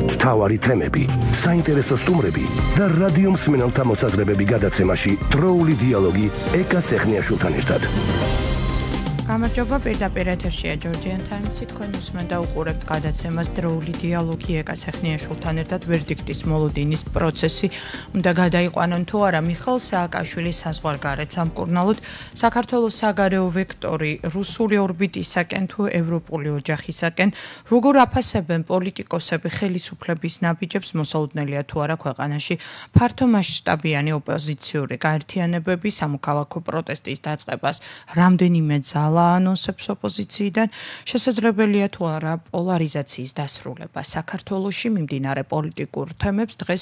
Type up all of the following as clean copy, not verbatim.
მთავარი თემები, საინტერესო სტუმრები და რადიო მსმენელთა მოსაზრებები გადაცემაში დროული დიალოგი ეკა სეხნიაშვილთან ერთად. გამარჯობა, პირდაპირ ეთერშია Georgian Times-ი, თქვენ უსმენთ და უყურებთ გადაცემას დროული დიალოგი ეკა სეხნიაშვილთან ერთად. ვერდიქტის მოლოდინის პროცესი უნდა გადაიყვანონ თუ არა მიხეილ სააკაშვილის საზღვარგარეთ სამკურნალოდ, საქართველოს საგარეო ვექტორი რუსული ორბიტისაკენ თუ ევროპული ოჯახისაკენ, როგორ აფასებენ პოლიტიკოსები ხელისუფლების ნაბიჯებს, მოსალოდნელია თუ არა ქვეყანაში ფართო მასშტაბიანი ოპოზიციური გაერთიანებები სამოქალაქო პროტესტის დაწყებას რამდენიმე ძალა ანონსებს ოპოზიციიდან, შესაძლებელია თუ არა პოლარიზაციის დასრულება საქართველოში მიმდინარე პოლიტიკურ თემებს დღეს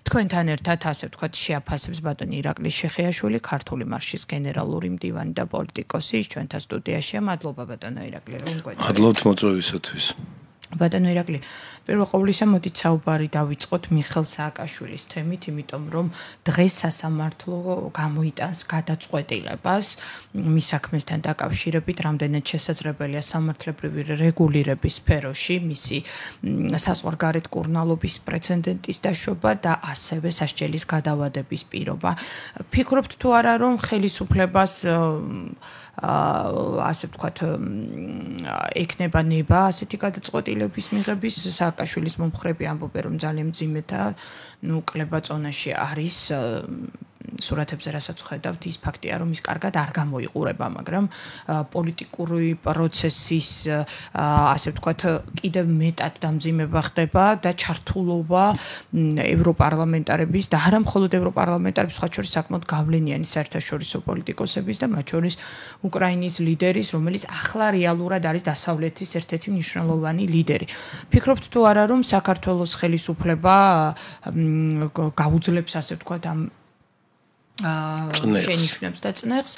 თქვენთან ერთად ასე ვთქვათ შეაფასებს ბატონი ირაკლი შეხიაშვილი, ქართული მარშის გენერალური მდივანი და პოლიტიკოსი, ის ჩვენთან სტუდიაშია. მადლობა ბატონო ირაკლი, რომ გვეწევით. მადლობთ მოწვევისათვის. ბატონო ირაკლი, პირველ ყოვლისა მოდით საუბარი დავიწყოთ მიხეილ სააკაშვილის თემით, იმიტომ რომ დღეს სასამართლო გამოიტანს გადაწყვეტილებას მის საქმესთან დაკავშირებით, რამდენად შესაძლებელია სამართლებრივი რეგულირების სფეროში მისი საზღვარგარეთ კურნალობის პრეცედენტის დაშვება და ასევე სასჯელის გადავადების პირობა. ფიქრობთ თუ არა, რომ ხელისუფლებას ასე ვთქვათ ექნება ნება ასეთი გადაწყვეტილების მიღების, სააკაშვილის მომხრები ამბობენ, რომ ძალიან მძიმე და კლება ზონაში არის. სურათებზე რასაც ხედავთ, ის ფაქტია, რომ ის კარგად არ გამოიყურება, მაგრამ პოლიტიკური პროცესის ასე ვთქვათ კიდევ მეტად დამძიმება ხდება და ჩართულობა ევროპარლამენტარების და არა მხოლოდ ევროპარლამენტარების, სხვა შორის საკმაოდ გავლენიანი საერთაშორისო პოლიტიკოსების და მათ შორის უკრაინის ლიდერის, რომელიც ახლა რეალურად არის დასავლეთის ერთ-ერთი მნიშვნელოვანი ლიდერი. ფიქრობთ თუ არა, რომ საქართველოს ხელისუფლება გაუძლებს ასე ვთქვათ ამ შენიშვნებს და წნეხს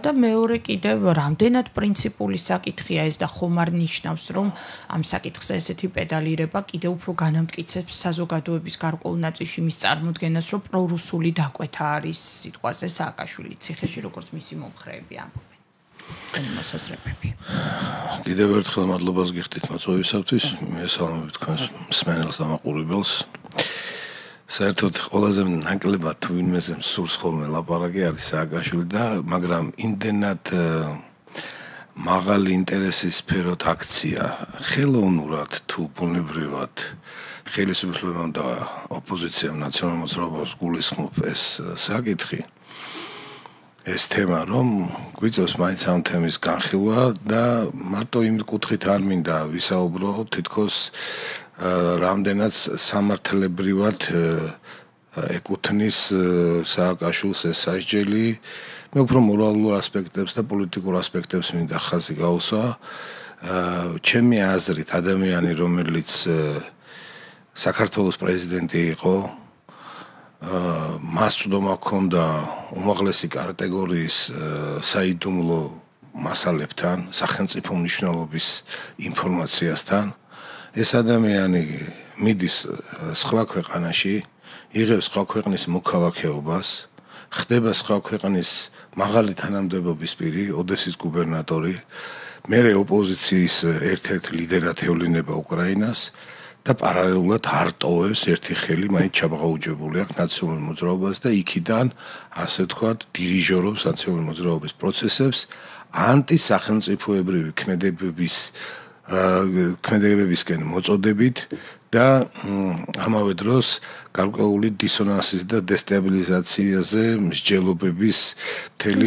და მეორე კიდევ რამდენად პრინციპული საკითხია ეს და ხომ არ ნიშნავს, რომ ამ საკითხზე ესეთი პედალირება კიდევ უფრო განამტკიცებს საზოგადოების გარკვეულ ნაწილში მის წარმოდგენას, რომ პრორუსული დაკვეთა არის სიტყვაზე სააკაშვილის ციხეში, როგორც მისი მომხრეები ამბობენ. მოსაზრებები. კიდევ ერთხელ მადლობას გიხდით მოწვევისათვის. მესალმებით თქვენს მსმენელს და მაყურებელს. საერთოდ ყველაზე ნაკლებად თუ ვინმეზე სურს ხოლმე ლაპარაკი არის სააკაშვილი და მაგრამ იმდენად მაღალი ინტერესის სფეროთ აქცია ხელოვნურად თუ ბუნებრივად ხელისუფლებამ და ოპოზიციამ ნაციონალურ მოძრაობას გულისხმობ ეს საკითხი ეს თემა რომ გვიწევს მაინც ამ თემის განხილვა და მარტო იმ კუთხით არ მინდა ვისაუბრო თითქოს რამდენად სამართლებრივად ეკუთვნის სააკაშვილს ეს სასჯელი მე უფრო მორალურ ასპექტებს და პოლიტიკურ ასპექტებს მინდა ხაზი გავუსვა ჩემი აზრით ადამიანი რომელიც საქართველოს პრეზიდენტი იყო მას ცუდომა ჰქონდა უმაღლესი კატეგორიის საიდუმლო მასალებთან სახელმწიფო მნიშვნელობის ინფორმაციასთან ეს ადამიანი მიდის სხვა ქვეყანაში, იღებს სხვა ქვეყნის მოქალაქეობას, ხდება სხვა ქვეყნის მაღალი თანამდებობის პირი, ოდესის გუბერნატორი, მერე ოპოზიციის ერთ-ერთ ლიდერად ევლინება უკრაინას და პარალელურად არ ტოვებს ერთი ხელი, მაინც ჩაბაღაუჯებული აქვს ნაციონალურ მოძრაობას და იქიდან, ასე ვთქვათ, დირიჟორობს ნაციონალური მოძრაობის პროცესებს ანტისახელმწიფოებრივი ქმედებებისკენ მოწოდებით და ამავე დროს გარკვეული დისონანსის და დესტაბილიზაციაზე მსჯელობების მთელი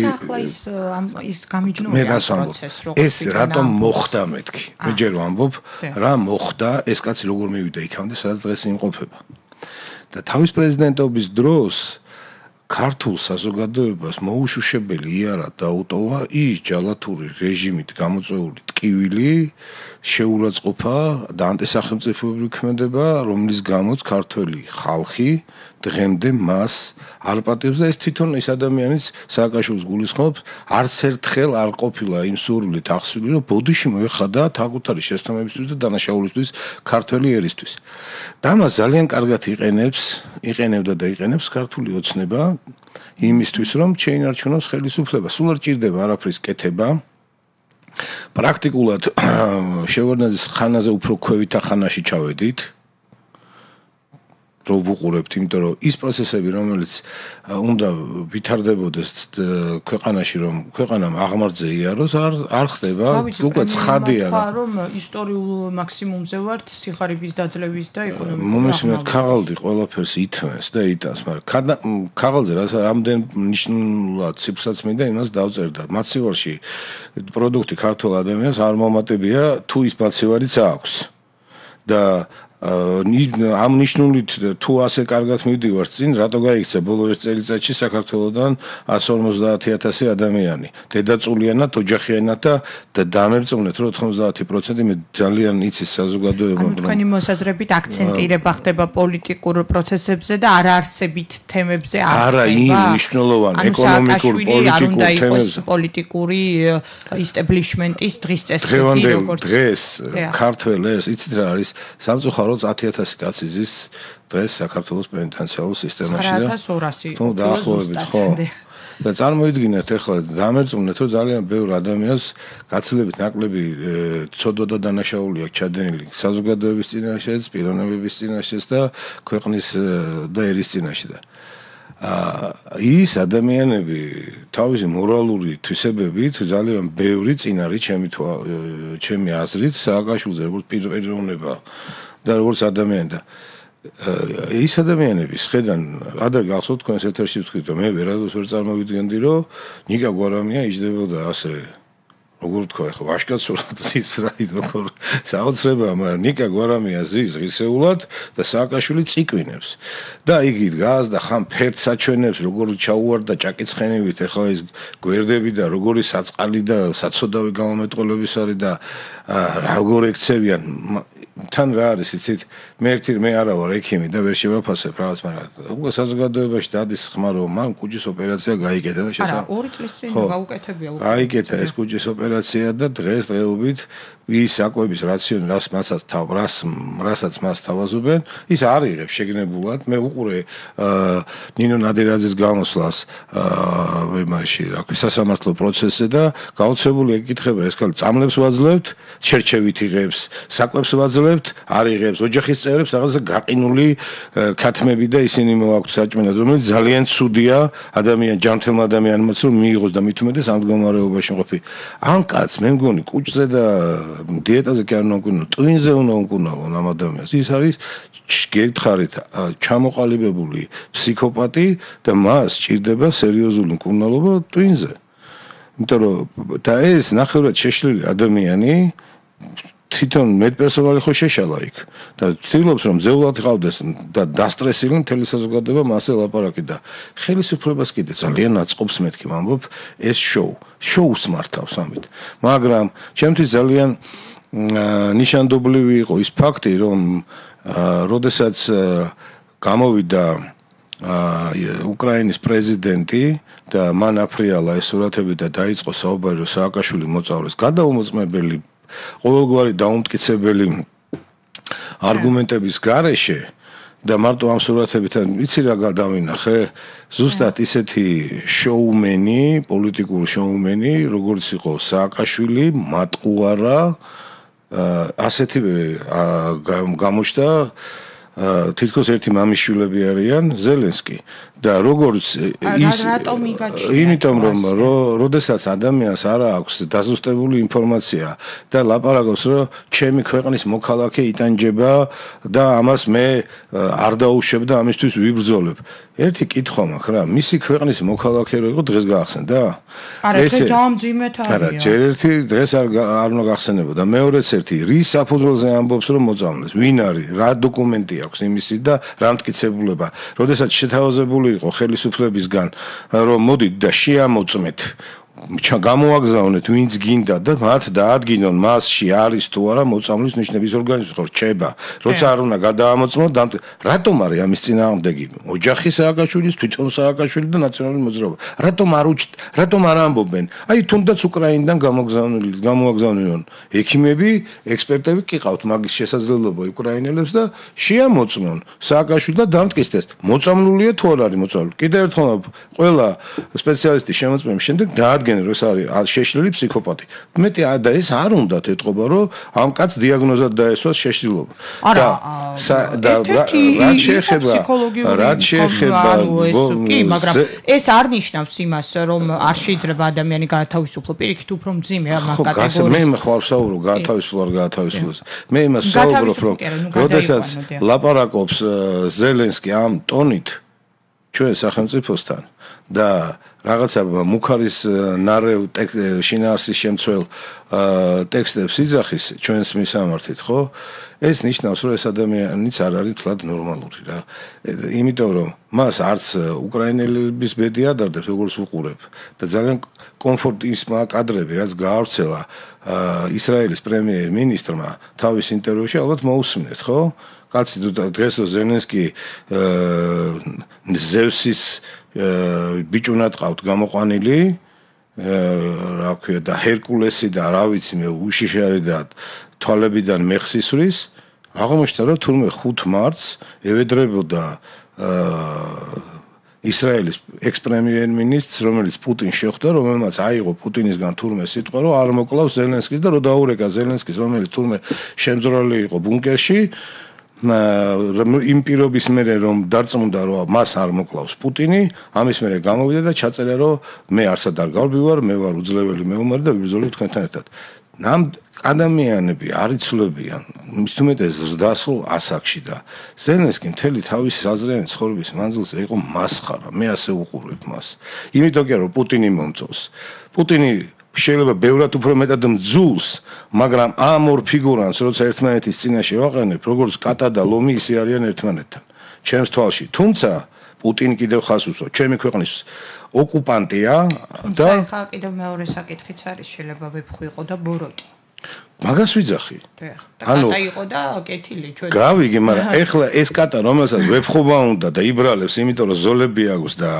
ის გამიჯნულია პროცესს როგორ ეს რატომ მოხდა მეთქი მე ჯერ ვამბობ რა მოხდა ეს კაცი როგორ მივიდა იქამდე სადაც დღეს იმყოფება და თავის პრეზიდენტობის დროს ქართულ საზოგადოებას მოუშუშებელი იარაღ დაუტოვა ის ჯალათური რეჟიმით გამოწვეული ტკივილი შეურაცხყოფა და ანტისახელმწიფოებრივი ქმედება რომლის გამოც ქართველი ხალხი დღემდე მას არ პატიებს და ეს თვითონ ის ადამიანის სააკაშვილის გულისხმობს არც ერთხელ არ ყოფილა იმ სურვილით აღსვილი რომ ბოდიში მოეხადა თაკუთარი შესაბამისისთვის და დანაშაულისთვის ქართველი ერისთვის და მას ძალიან კარგად იყენებდა და იყენებს ქართული ოცნება იმისთვის რომ შეინარჩუნოს ხელისუფლება სულ არ ჭირდება არაფრის კეთება პრაქტიკულად შევარდნაძის ხანაზე უფრო ქვევითა ხანაში ჩავედით რო ვუყურებთ, იმიტომ რომ ის პროცესები, რომელიც უნდა ვითარდებოდეს ქვეყანაში, რომ ქვეყანამ აღმართზე იაროს, არ ხდება, უკვე ცხადია რომ ისტორიულ მაქსიმუმზე ვართ სიხარიბის დაძლევის და ეკონომიკური მომისმენთ ქაღალდი ყველაფერს ითმეს და იტანს, მაგრამ ქაღალდზე რამდენ ნიშნულად ციფრსაც მინდა იმას დავწერდა. მაცივარში პროდუქტი ქართულ ადამიანს არ მომატებია თუ ის მაცივარიც აქვს. და ამ ნიშნულით თუ ასე კარგად მივდივართ წინ, რატო გაიქცა ბოლო ერთ წელიწადში საქართველოსდან 150,000 ადამიანი. დედაწულიანად, ოჯახიანად და დამერწმუნეთ, რომ 90% მე ძალიან იცის საზოგადოება. თქვენი მოსაზრებით აქცენტირება ხდება პოლიტიკურ პროცესებზე და არაარსებით თემებზე არა იმ მნიშვნელოვან ეკონომიკურ პოლიტიკურ თემებზე. პოლიტიკური ისტებლიშმენტის დღის წესრიგი როგორც დღეს ქართველებს იცით რა არის სამწუხაროდ 10,000 კაცი ზის დღეს საქართველოს პენიტენციარულ სისტემაში და 9,200 თუ დაახლოებით ხო და წარმოიდგინეთ ახლა დამერწმუნეთ რომ ძალიან ბევრ ადამიანს გაცილებით ნაკლები ცოდვა და დანაშაული აქვს ჩადენილი საზოგადოების წინაშეც, პიროვნებების წინაშეც და ქვეყნის და ერის წინაშე და ის ადამიანები თავისი მორალური თვისებებით ძალიან ბევრი წინ არის ჩემი აზრით სააკაშვილზე როგორც პიროვნება და როგორც ადამიანი და ის ადამიანების ხედან ადრე გახსოვთ თქვენს ეთერში ვთქვით რომ მე ვერადოს ვერ წარმოვიდგენდი რომ ნიკა გვარამია იჯდებოდა ასე როგორ თქვა ხო ვაშკაცურად ზის რა როგორ საოცრებაა მაგრამ ნიკა გვარამია ზის ღირსეულად და სააკაშვილი წიკვინებს და იგი დგას და ხან ფერდს აჩვენებს როგორ ჩაუვარდა ჭაკიცხენივით ახლა ის გვერდები და როგორი საწყალი და საცოდავი გამომეტყველების არის და როგორ ექცევიან თან რა არის იცით მე არა ვარ ექიმი და ვერ შევაფასებ რაღაც მაგრამ უკვე საზოგადოებაში დადის ხმა რომ მან კუჭის ოპერაცია გაიკეთა და არა 2 წლის წინ გაუკეთებია უკვე გაიკეთა ეს კუჭის ოპერაცია და დღესდღეობით ის საკვების რაციონი რასაც მას თავაზობენ ის არ იღებს შეგნებულად მე უყურე ნინო ნადირაძის გამოსვლას მაშინ რა ქვია სასამართლო პროცესზე და გაოცებული ეკითხება ეს ქალი წამლებს ვაძლევთ შერჩევით იღებს საკვებს ვაძლევთ არ იღებს ოჯახის წევრებს რაღაცა გაყინული ქათმები და ისინი მოაქვთ საჭმელად რომელიც ძალიან ცუდია ჯანმრთელმა ადამიანმაც რომ მიიღოს და მით უმეტეს ამ მდგომარეობაში ყოფი ან კაც მე მგონი კუჭზე და დიეტაზე კი არ უნდა უკუნო ტვინზე უნდა უკუნავონ ამ ადამიანს ის არის გეკითხარით ჩამოყალიბებული ფსიქოპატი და მას სჭირდება სერიოზული მკურნალობა ტვინზე იმიტომ რომ და ეს ნახევრად შეშლილი ადამიანი თვითონ მედპერსონალი ხო შეშალა იქ და ცდილობს რომ ძეულად ყავდეს და დასტრესილი მთელი საზოგადოება მასე ლაპარაკი და ხელისუფლებას კიდე ძალიან აწყობს მეთქი ვამბობ ეს შოუს მართავს ამით მაგრამ ჩემთვის ძალიან ნიშანდობლივი იყო ის ფაქტი რომ როდესაც გამოვიდა უკრაინის პრეზიდენტი და მან აფრიალა ეს სურათები და დაიწყო საუბარი რომ სააკაშვილი მოწავლეს გადაუმოწმებელი ყოველგვარი დაუმტკიცებელი არგუმენტების გარეშე და მარტო ამ სურათებთან ვიცი რა გადავინახე ზუსტად ისეთი შოუმენი პოლიტიკური შოუმენი როგორც იყო სააკაშვილი მატყუარა ასეთივე გამოჩნდა თითქოს ერთი მამიშვილები არიან ზელენსკი და როგორც ის იმიტომ რომ როდესაც ადამიანს არ აქვს დაზუსტებული ინფორმაცია და ლაპარაკობს რომ ჩემი ქვეყნის მოქალაქე იტანჯება და ამას მე არ დაუშვებ და ამისთვის ვიბრძოლებ ერთი კითხვა მაქვს რა მისი ქვეყნის მოქალაქე რო იყო დღეს გაახსენდა არა ეს ძალიან ძიმეთ არის არა ჯერ ერთი დღეს არ უნდა გახსენებოდა მეორეც ერთი რის საფუძველზე ამბობს რომ მოწამლეს ვინ არის რა დოკუმენტი აქვს იმისი და რა მტკიცებულება როდესაც შეთავაზებული იყო ხელისუფლებისგან რომ მოდით და შეამოწმეთ გამოაგზავნეთ ვინც გინდა და მათ დაადგინონ მასში არის თუ არა მოწამვლის ნიშნების ორგანიზმი ხო რჩება როცა არ უნდა გადაამოწმოთ რატომ არის ამის წინააღმდეგი ოჯახი სააკაშვილის თვითონ სააკაშვილი და ნაციონალური მოძრაობა რატომ არ ამბობენ აი თუნდაც უკრაინიდან გამოაგზავნილონ ექიმები ექსპერტები კი ყავთ მაგის შესაძლებლობა უკრაინელებს და შეამოწმონ სააკაშვილი და დამტკიცდეს მოწამლულია თუ არ არის მოწამლული კიდევ ერთხელ ყველა სპეციალისტის შემოწმების შემდეგ წარადგენენ რომ ეს არის შეშლილი ფსიქოპათი. მეტი და ეს არ უნდათ ეთყობა რომ ამ კაც დიაგნოზად დაესვას შეშლილობა. და რაც შეეხება კი, მაგრამ ეს არ ნიშნავს იმას რომ არ შეიძლება ადამიანი გაათავისუფლო პირიქით უფრო მძიმე ამ კატეგორიას. მე ხარ ვსაუბრო გაათავისუფლოს. მე იმას ვსაუბრობ რომ როდესაც ლაპარაკობს ზელენსკი ამ ტონით ჩვენ სახელმწიფოსთან და რაღაცა მუქარის ნარევ შინაარსის შემცველ ტექსტებს იძახის ჩვენს მისამართით, ხო? ეს ნიშნავს, რომ ეს ადამიანიც არ არის თლად ნორმალური რა. იმიტომ რომ მას არც უკრაინელების ბედი ადარდებს, როგორც უყურებ და ძალიან კომფორტისმა კადრები, რაც გაავრცელა ისრაელის პრემიერ-მინისტრმა თავის ინტერვიუში, ალბათ მოусმინეთ, ხო? კაცი დღეს ზელენსკი ზევსის ბიჭუნად ყავთ გამოყვანილი რა ქვია და ჰერკულესი და რა ვიცი მე უშიშარი და თვალებიდან მეხსისვრის აღმოჩნდა რომ თურმე 5 მარტს ევედრებოდა ისრაელის ექს-პრემიერ-მინისტრს რომელიც პუტინს შეხვდა რომელმაც აიღო პუტინისგან თურმე სიტყვა რომ არ მოკლავს ზელენსკის და რომ დაურეკა ზელენსკის რომელიც თურმე შემძრალი იყო ბუნკერში იმ პირობის მერე რომ დარწმუნდა რომ მას არ მოკლავს პუტინი ამის მერე გამოვიდა და ჩაწერა რომ მე არსად არ გავბივარ მე ვარ უძლეველი მეომარი და ვიბრძოლებ თქვენთან ერთად ნამ ადამიანები არ იცვლებიან მის უმეტეს ზრდასრულ ასაკში და ზელენსკი მთელი თავისი საზრიანი ცხოვრების მანძილზე იყო მასხარა მე ასე უყურებ მას იმიტომ კი რომ პუტინი მომწონს პუტინი შეიძლება ბევრად უფრო მეტად მძულს, მაგრამ ამ ორ ფიგურანს, როცა ერთმანეთის წინაშე ვაყენებ, როგორც კატა და ლომი ისე არიან ერთმანეთთან. ჩემს თვალში. თუმცა პუტინი კიდევ ხას უსვამს. ჩემი ქვეყნის ოკუპანტია და ხა კიდევ მეორე საკითხიც არის, შეიძლება ვეფხვიყო და ბოროტი. მაგას ვიძახი. ანუ კატა იყო და კეთილი ჩვენ. გავიგე, მაგრამ ეხლა ეს კატა რომელსაც ვეფხობა უნდა და იბრალებს, იმიტომ რომ ზოლები აქვს და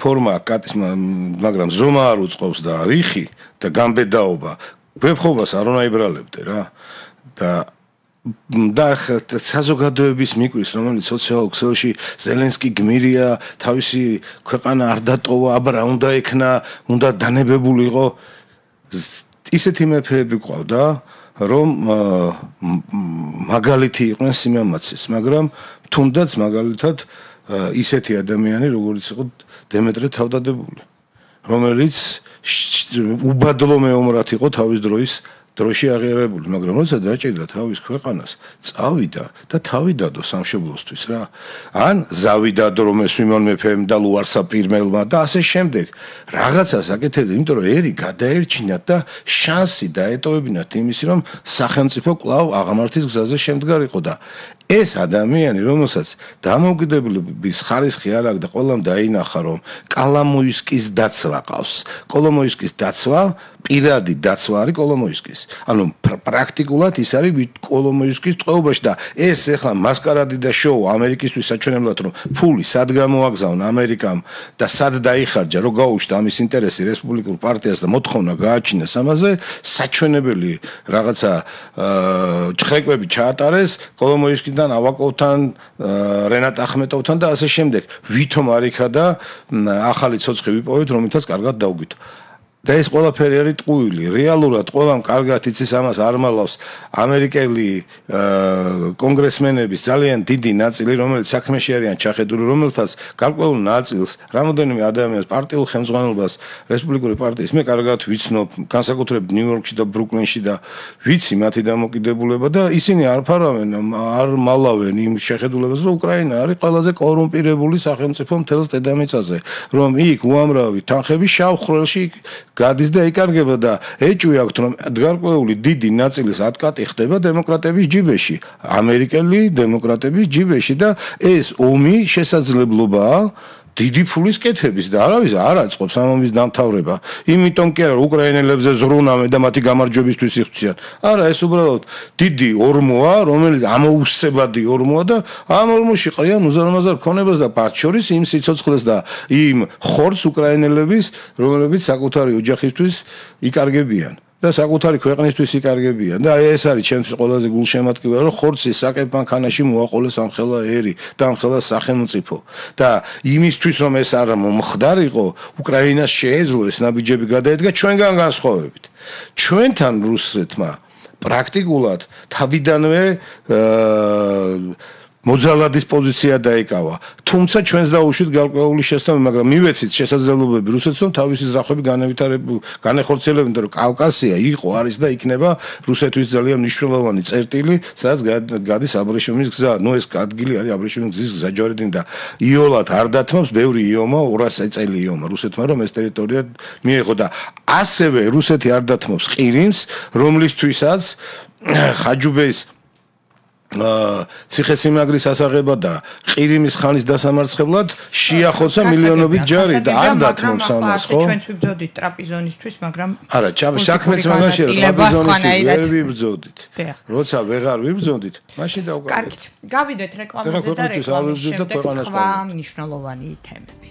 ფორმა კატის, მაგრამ ზომა არ უწყობს და რიხი და გამბედაობა. ვეფხობას არ უნდა იბრალებდე რა. და საზოგადოების მიკვის, რომელიც სოციალურ ქსელში ზელენსკი გმირია, თავისი ქვეყანა არ დატოვა, აბა უნდა ექნა, უნდა დანებებულიყო. ისეთი მეფეები ყავდა, რომ მაგალითი იყვნენ სიმამაცის, მაგრამ თუნდაც მაგალითად ისეთი ადამიანი, როგორც იყო დემეტრე თავდადებული, რომელიც უბადლო მეომრად იყო თავის დროში აღიარებული, მაგრამ როცა დაჭირდა თავის ქვეყანას, წავიდა და თავი დადო სამშობლოსთვის რა. ან ზავი დადო რომ ეს ვიმონ მეფემ და ლუარსა პირმელმა და ასე შემდეგ. რაღაცას აკეთებდა, იმიტომ რომ ერი გადაერჩინათ და შანსი დაეტოვებინათ იმისი, რომ სახელმწიფო კვლავ აღამართის გზაზე შემდგარიყო და ეს ადამიანი, რომელსაც დამოუკიდებლობის ხარისხი არ აქვს და ყველამ დაინახა, რომ კოლომოისკის დაცვა ყავს. კოლომოისკის დაცვა, პირადი დაცვა არის კოლომოისკის. ანუ პრაქტიკულად ის არის კოლომოისკის ტყვეობაში და ეს ახლა მასკარადი და შოუ ამერიკისთვის საჩვენებლად რომ ფული სად გამოაგზავნა ამერიკამ და სად დაიხარჯა, რომ გაუჩნდა ამის ინტერესი რესპუბლიკურ პარტიას და მოთხოვნა გააჩინეს ამაზე, საჩვენებელი რაღაცა ჭხრეკვები ჩაატარეს კოლომოისკის ავაკოვთან, რენატ ახმეტოვთან და ასე შემდეგ. ვითომ არ იქა და ახალი ცოცხი ვიპოვეთ, რომელთაც კარგად დავგვითო. და ეს ყველაფერი არის ტყუილი. რეალურად ყველამ კარგად იცის ამას არ მალავს ამერიკელი კონგრესმენების ძალიან დიდი ნაწილი, რომელიც საქმეში არიან ჩახედული, რომელთაც გარკვეულ ნაწილს რამოდენიმე ადამიანს პარტიულ ხელმძღვანელობას რესპუბლიკური პარტიის მე კარგად ვიცნობ, განსაკუთრებით ნიუ-იორკში და ბრუკლინში და ვიცი მათი დამოკიდებულება და ისინი არ ფარავენ, არ მალავენ იმ შეხედულებას, რომ უკრაინა არის ყველაზე კორუმპირებული სახელმწიფო მთელს დედამიწაზე, რომ იქ უამრავი თანხები შავ ხვრელში გადის და იკარგება და ეჭვი აქვს რომ გარკვეული დიდი ნაწილის ატკატი ხდება დემოკრატების ჯიბეში, ამერიკელი დემოკრატების ჯიბეში და ეს ომი შესაძლებლობაა დიდი ფულის კეთების და არავის არ აწყობს ამ ომის დამთავრება. იმიტომ კი არა უკრაინელებზე ზრუნავენ და მათი გამარჯვებისთვის იხდიან. არა, ეს უბრალოდ დიდი ორმოა, რომელიც ამოუსებადი ორმოა და ამ ორმოში ყრიან უზარმაზარ ქონებას და მათ შორის იმ სიცოცხლეს და იმ ხორცს უკრაინელების, რომლებიც საკუთარი ოჯახისთვის იკარგებიან. და საკუთარი ქვეყნისთვის იკარგებიან და ეს არის ჩემთვის ყველაზე გულშემატკივარი რომ ხორცი საკებ მანქანაში მოაყოლეს ამხელა ერი და ამხელა სახელმწიფო და იმისთვის რომ ეს არ მომხდარიყო უკრაინას შეეძლო ეს ნაბიჯები გადაედგა ჩვენგან განსხვავებით ჩვენთან რუსეთმა პრაქტიკულად თავიდანვე მოძალადის პოზიცია დაიკავა. თუმცა ჩვენს დაუშვით გარკვეული შესაბამი, მაგრამ მივეცით შესაძლებლობები რუსეთს რომ თავისი ზრახვები განეხორციელებინათ, რომ კავკასია იყო, არის და იქნება რუსეთის ძალიან მნიშვნელოვანი წერტილი, სადაც გადის აბრეშუმის გზა. ნუ ეს ადგილი არის აბრეშუმის გზის გზა ჯორედინ და იოლად არ დათმობს ბევრი იომა 200 წელი იომა რუსეთმა რომ ეს ტერიტორია მიეღო და ასევე რუსეთი არ დათმობს ყირიმს, რომლისთვისაც ხაჯუბეის ციხესიმაგრის ასაღება და ყირიმის ხანის დასამარცხებლად შეახოცა მილიონობით ჯარი და არ დათმობს ამას ხო? ჩვენც ვიბრძოდით ტრაპიზონისთვის, მაგრამ არა, საქმეც მაგაში ტრაპიზონისთვის ვერ ვიბრძოდით. როცა ვეღარ ვიბრძოდით, მაშინ დავკარგეთ. კარგით, გავიდეთ რეკლამაზე და რეკლამის შემდეგ სხვა მნიშვნელოვანი თემები.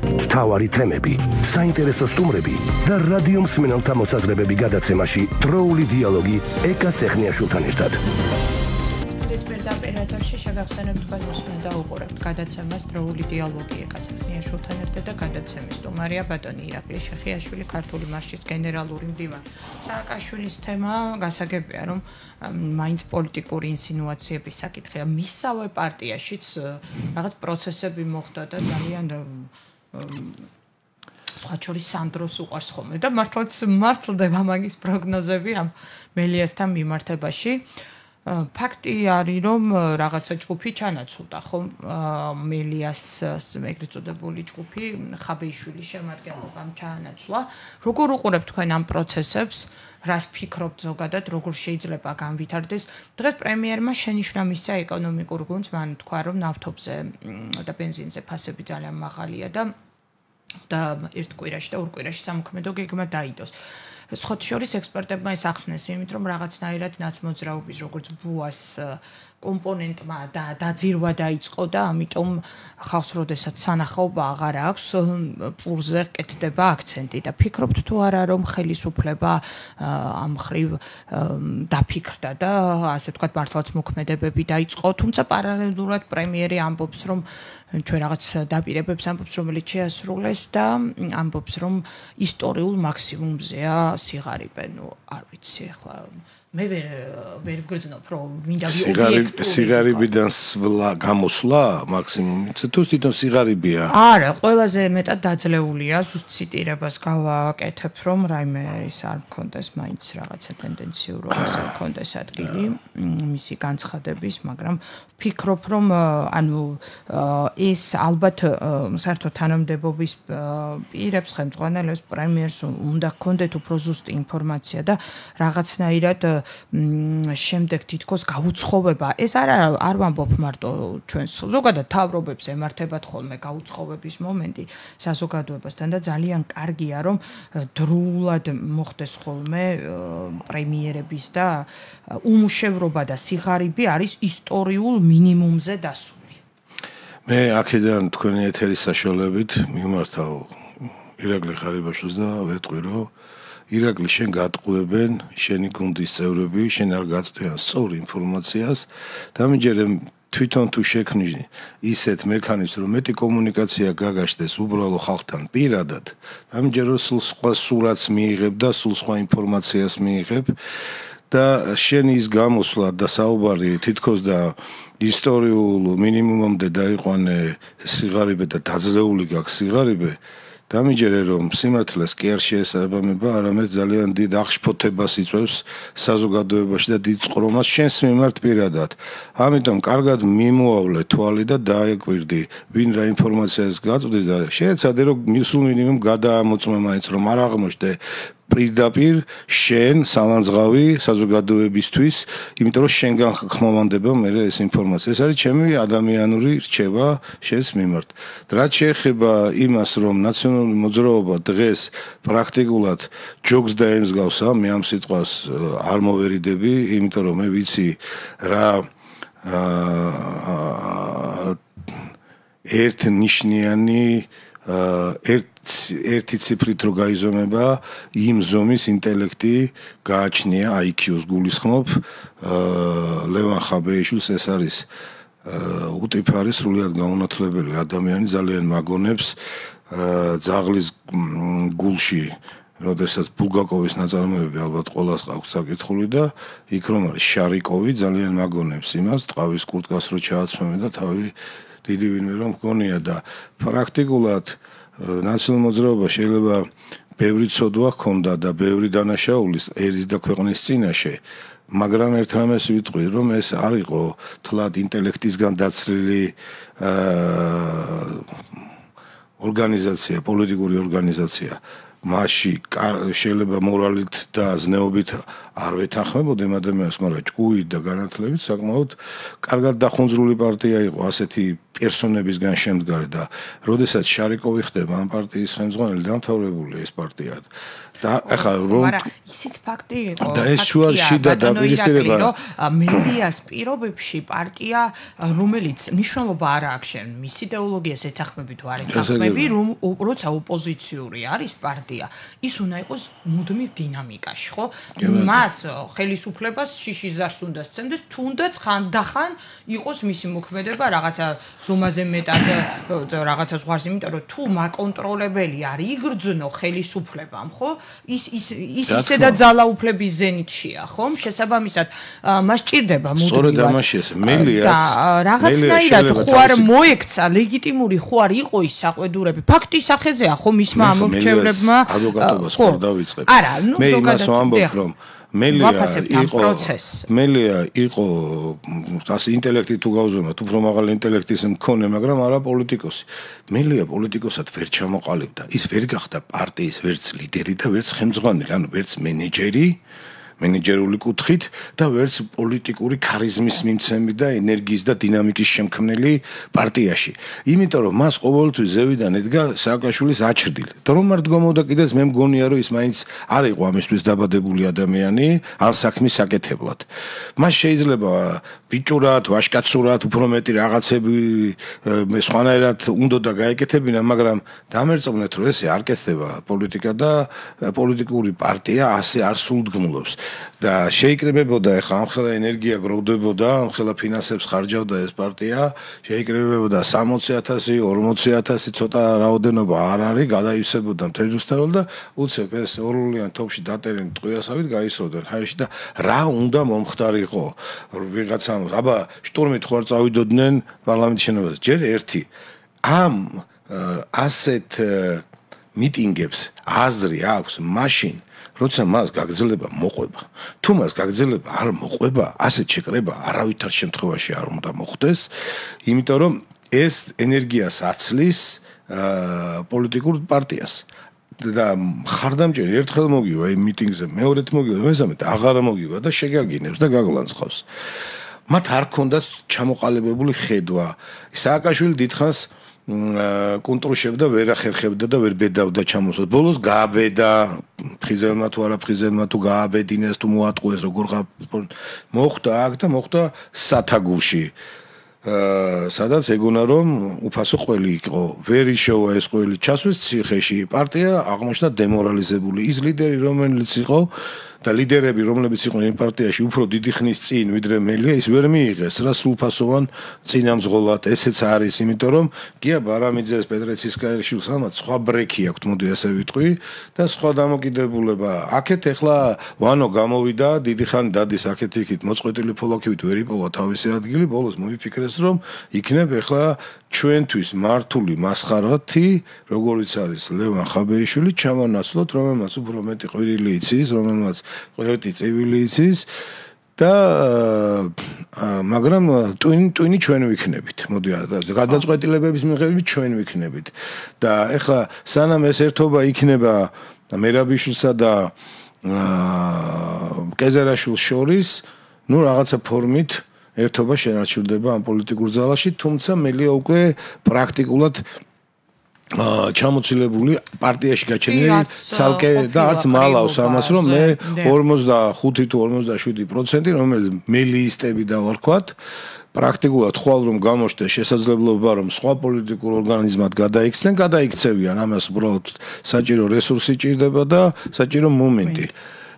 მთავარი თემები, საინტერესო სტუმრები და რადიო მსმენელთა მოსაზრებები გადაცემაში დროული დიალოგი ეკა სეხნიაშვილთან ერთად. ოპერატორში შეგახსენებთ თქვენს და უყურებთ გადაცემას დროული დიალოგი ეკა სეხნიაშვილთან ერთად და გადაცემის სტუმარია ბატონი ირაკლი შეხიაშვილი ქართული მარშის გენერალური მდივანი. სააკაშვილის თემა გასაგებია რომ მაინც პოლიტიკური ინსინუაციების საკითხია მისავე პარტიაშიც რაღაც პროცესები მოხდა და ძალიან სხვა შორის სანდროს უყარს ხოლმე და მართლაც მართლდება მაგის პროგნოზები ამ მელიასთან მიმართებაში. ფაქტი არის რომ რაღაცა ჯგუფი ჩანაცვლდა ხო მელიას ეგრეთ წოდებული ჯგუფი ხაბეიშვილის შემადგენლობამ ჩაანაცვლა როგორ უყურებთ თქვენ ამ პროცესებს რას ფიქრობთ ზოგადად როგორ შეიძლება განვითარდეს დღეს პრემიერმა შენიშვნა მისცა ეკონომიკურ გუნდს მან თქვა რომ ნავთობზე და ბენზინზე ფასები ძალიან მაღალია და ერთ კვირაში და ორ კვირაში სამოქმედო გეგმა დაიდოს სხვა შორის ექსპერტებმა ეს ახსნეს იმით რომ რაღაცნაირად ნაცმოძრაობის როგორც ბუას კომპონენტმა და დაძირვა დაიწყო და ამიტომ ხალხს როდესაც სანახაობა აღარ აქვს პურზე კეთდება აქცენტი და ფიქრობთ თუ არა რომ ხელისუფლება ამ მხრივ დაფიქრდა და ასე ვთქვათ მართლაც მოქმედებები დაიწყო თუმცა პარალელურად პრემიერი ამბობს რომ ჩვენ რაღაც დაპირებებს ამბობს რომელიც შეასრულეს და ამბობს რომ ისტორიულ მაქსიმუმზეა სიღარიბე ნუ არ ვიცი ახლა მე ვერ ვგრძნობ რომ მინდა სიღარიბიდან გამოსვლა მაქსიმუმით თუ თვითონ სიღარიბია არა ყველაზე მეტად დაძლეულია ზუსტ ციტირებას გავაკეთებ რომ რაიმე ის არ მქონდეს მაინც რაღაცა ტენდენციურ რომ ეს არ მქონდეს ადგილი მისი განცხადების მაგრამ ვფიქრობ რომ ანუ ეს ალბათ საერთო თანამდებობის პირებს ხელმძღვანელებს პრემიერს უნდა ჰქონდეთ უფრო ზუსტი ინფორმაცია და რაღაცნაირად შემდეგ თითქოს გაუცხოვება ეს არ ვამბობ მარტო ჩვენს ზოგადად თავრობებს ემართებათ ხოლმე გაუცხოვების მომენტი საზოგადოებასთან და ძალიან კარგია რომ დროულად მოხდეს ხოლმე პრემიერების და უმუშევრობა და სიღარიბე არის ისტორიულ მინიმუმზე დასული მე აქედან თქვენი ეთერის საშუალებით მიმართავ ირაკლი ხარიბაშვილს და ვეტყვი რომ ირაკლი შენ გატყუებენ შენი გუნდის წევრები შენ არ გაწვდიან სწორ ინფორმაციას დამიჯერე თვითონ თუ შექმნი ისეთ მექანიზმს რომ მეტი კომუნიკაცია გაგაშდეს უბრალო ხალხთან პირადად დამიჯერე სულ სხვა სურათს მიიღებ და სულ სხვა ინფორმაციას მიიღებ და შენ ის გამოსვლა და საუბარი თითქოს და ისტორიულ მინიმუმამდე დაიყვანე სიღარიბე და დაძლეული გაქვს სიღარიბე დამიჯერე რომ სიმართლეს კი არ შეესაბამება, არამედ ძალიან დიდ აღშფოთებას იწვევს საზოგადოებაში და დიდ წყრომას შენს მიმართ პირადად. ამიტომ კარგად მიმოავლე თვალი და დაეკვირდი, ვინ რა ინფორმაციას გაწვდის და შეეცადე რომ მისულ მინიმუმ გადაამოწმე მაინც რომ არ აღმოჩნდე პირდაპირ შენ სალანძღავი საზოგადოებისთვის, იმიტომ რომ შენგან ხმოვანდება მე ეს ინფორმაცია. ეს არის ჩემი ადამიანური რჩევა შენს მიმართ. რაც შეეხება იმას, რომ ნაციონალური მოძრაობა დღეს პრაქტიკულად ჯოგს დაემსგავსა, მე ამ სიტყვას არ მოვერიდები, იმიტომ რომ მე ვიცი რა ერთნიშნიანი ერთი ციფრით რო გაიზომება იმ ზომის ინტელექტი გააჩნია IQ-ს გულისხმობ ლევან ხაბეიშვილს ეს არის უტიფარი სრულიად გაუნათლებელი ადამიანი ძალიან მაგონებს ძაღლის გულში როდესაც ბულგაკოვის ნაწარმოები ალბათ ყველას აქვს საკითხული და იქ რომ არის შარიკოვი ძალიან მაგონებს იმას ტყავის კურტკას რო ჩააცმემე და თავი დიდი ვინმე რომ მგონია და პრაქტიკულად ნაციონალურ მოძრაობა შეიძლება ბევრი ცოდვა ჰქონდა და ბევრი დანაშაულის ერის და ქვეყნის წინაშე მაგრამ ერთ რამეს ვიტყვი რომ ეს არ იყო თლად ინტელექტისგან დაცლილი ორგანიზაცია პოლიტიკური ორგანიზაცია მასში შეიძლება მორალით და ზნეობით არ ვეთანხმებოდი იმ ადამიანს, მაგრამ ჭკუით და განათლებით საკმაოდ კარგად დახუნძრული პარტია იყო ასეთი პერსონებისგან შემდგარი და როდესაც შარიკოვი ხდება ამ პარტიის ხელმძღვანელი დამთავრებული ეს პარტია და ახლა რომ მაგრამ ისიც ფაქტი იყო და ეს შუაში და დაპირისპირება მედიას პირობებში პარტია რომელიც მნიშვნელობა არ აქვს შენ მის იდეოლოგიას ეთანხმები თუ არ ეთანხმები რომ როცა ოპოზიციური არის პარტია ის უნდა იყოს მუდმივ დინამიკაში ხო მას ხელისუფლებას შიშიზარს უნდა სცემდეს თუნდაც ხანდახან იყოს მისი მოქმედება რაღაცა ზომაზე მეტად რაღაცა ზღვარს იმიტომ რომ თუ მაკონტროლებელი არის იგრძნო ხელისუფლებამ ხო ის ისედა ძალაუფლების ზენიტშია ხო შესაბამისად მას ჭირდება მუდმივად სწორედ ამაში ეს მელიაც რაღაცნაირად ხო არ მოექცა ლეგიტიმური ხო არ იყო ის საყვედურები ფაქტის სახეზეა ხო მისმა ამორჩევლებმა ადვოკატობას ხო დავიწყებ არა ნუ მე იმას ვამბობ რომ მელია იყო ასე ინტელექტი თუ გავზომოთ უფრო მაღალი ინტელექტის მქონე მაგრამ არა პოლიტიკოსი მელია პოლიტიკოსად ვერ ჩამოყალიბდა ის ვერ გახდა პარტიის ვერც ლიდერი და ვერც ხელმძღვანელი ანუ ვერც მენეჯერული კუთხით და ვერც პოლიტიკური ქარიზმის მიმცემი და ენერგიის და დინამიკის შემქმნელი პარტიაში. იმიტომ რომ მას ყოველთვის ზევიდან ედგა სააკაშვილის აჩრდილი. რომ არ დგომოდა კიდეც მე მგონია რომ ის მაინც არ იყო ამისთვის დაბადებული ადამიანი ამ საქმის საკეთებლად. მას შეიძლება ბიჭურად, ვაშკაცურად უფრო მეტი რაღაცები სხვანაირად უნდა და გაეკეთებინა, მაგრამ დამერწმუნეთ რომ ესე არ კეთდება პოლიტიკა და პოლიტიკური პარტია ასე არ სულდგმულობს. და შეიკრიბებოდა ახლა ამხელა ენერგია გროვდებოდა, ამხელა ფინანსებს ხარჯავდა ეს პარტია, შეიკრიბებოდა 60,000, 40,000 ცოტა რაოდენობა არ არის, გადაივსებოდა მთელრუსთაველ და უცებ ეს ორლიან თოფში დატერენ ტყვიასავით გაისროდნენ ჰაერში და რა უნდა მომხდარიყო ვიღაცამ, აბა შტურმით ხო არ წავიდოდნენ პარლამენტის შენობაზე, ჯერ ერთი ამ ასეთ მიტინგებს აზრი აქვს მაშინ როცა მას გაგრძელება მოყვება. თუ მას გაგრძელება არ მოყვება, ასეთ შეკრება არავითარ შემთხვევაში არ უნდა მოხდეს, იმიტომ რომ ეს ენერგიას აცლის პოლიტიკურ პარტიას. და ხარდამჭერი ერთხელ მოგივა იმ მიტინგზე, მეორედ მოგივა და მესამედ აღარ მოგივა და შეგაგინებს და გაგლანძღავს. მათ არ ქონდათ ჩამოყალიბებული ხედვა. სააკაშვილი დიდხანს კონტროლებდა ვერ ახერხებდა და ვერ ბედავდა ჩამოსვლა. ბოლოს გააბედა ფხიზელმა თუ არა ფხიზელმა თუ გააბედინეს თუ მოატყუეს როგორ მოხდა აქ და მოხდა სათაგურში. სადაც ეგონა რომ უფასო ყველი იყო. ვერ იშოვა ეს ყველი ჩასვეს ციხეში. პარტია აღმოჩნდა დემორალიზებული. ის ლიდერი რომელიც იყო და ლიდერები რომლებიც იყვნენ იმ პარტიაში უფრო დიდი ხნის წინ ვიდრე მელია ის ვერ მიიღეს რა სულფასოვან წინამძღოლად ესეც არის იმიტომ რომ გია ბარამიძეს პეტრეცისკაიშვილს ამათ სხვა ბრექი აქვთ მოდი ასე ვიტყვი და სხვა დამოკიდებულება აქეთ ეხლა ვანო გამოვიდა დიდი ხანი დადის აქეთ იქით მოწყვეტილი ფოლოქივით ვერ იპოვა თავისი ადგილი ბოლოს მოიფიქრეს რომ იქნებ ეხლა ჩვენთვის მართული მასხარათი როგორიც არის ლევან ხაბეიშვილი ჩამონაცვლოთ რომელმაც უფრო მეტი ყვირილი იცის რომელმაც ყველეთი წევილი იცის და მაგრამ ტვინი ჩვენ ვიქნებით მოდი გადაწყვეტილებების მიღებით ჩვენ ვიქნებით და ეხლა სანამ ეს ერთობა იქნება მერაბიშვილსა და კეზერაშვილს შორის ნუ რაღაცა ფორმით ერთობა შენარჩუნდება ამ პოლიტიკურ ზალაში თუმცა მელია უკვე პრაქტიკულად ჩამოცილებული პარტიაში გაჩენილი ცალკე და არც მალავს ამას რომ მე 45 თუ 47% რომელიც მელიისტები დავარქვათ პრაქტიკულად ხვალ რომ გამოჩნდეს შესაძლებლობა რომ სხვა პოლიტიკურ ორგანიზმად გადაიქცნენ, გადაიქცევიან, ამას უბრალოდ საჭირო რესურსი ჭირდება და საჭირო მომენტი.